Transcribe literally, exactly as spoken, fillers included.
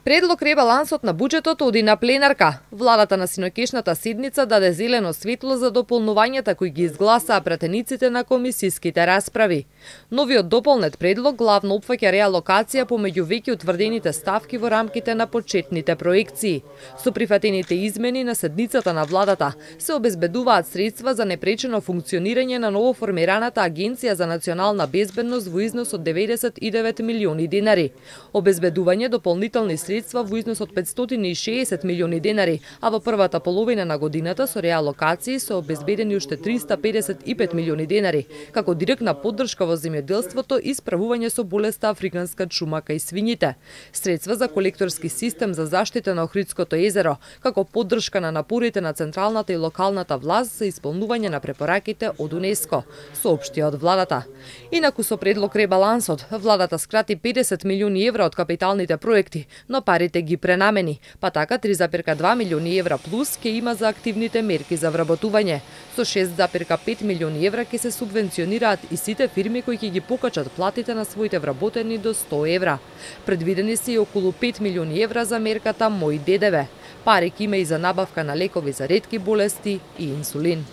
Предлог ребалансот на буџетот оди на пленарка. Владата на синоќешната седница даде зелено светло за дополнувањата кои ги изгласаа пратениците на комисиските расправи. Новиот дополнет предлог главно опфаќа реалокација помеѓу веќе утврдените ставки во рамките на почетните проекции. Со прифатените измени на седницата на владата се обезбедуваат средства за непречено функционирање на новоформираната Агенција за национална безбедност во износ од деветдесет и девет милиони денари. Обезбедување дополнителни средства во износ од петстотини и шеесет милиони денари, а во првата половина на годината со реалокации се обезбедени уште триста педесет и пет милиони денари, како директна поддршка во земјоделството и справување со болеста африканска чума кај свињите. Средства за колекторски систем за заштита на Охридското езеро, како поддршка на напорите на централната и локалната власт за исполнување на препораките од УНЕСКО, соопшти од владата. Инаку со предлог ребалансот, владата скрати педесет милиони евра од капиталните проекти, но парите ги пренамени, па така три зарез и две милиони евра плюс ќе има за активните мерки за вработување. Со шест зарез и пет милиони евра ќе се субвенционираат и сите фирми кои ќе ги покачат платите на своите вработени до сто евра. Предвидени се и околу пет милиони евра за мерката Мој ДДВ. Пари ќе има и за набавка на лекови за ретки болести и инсулин.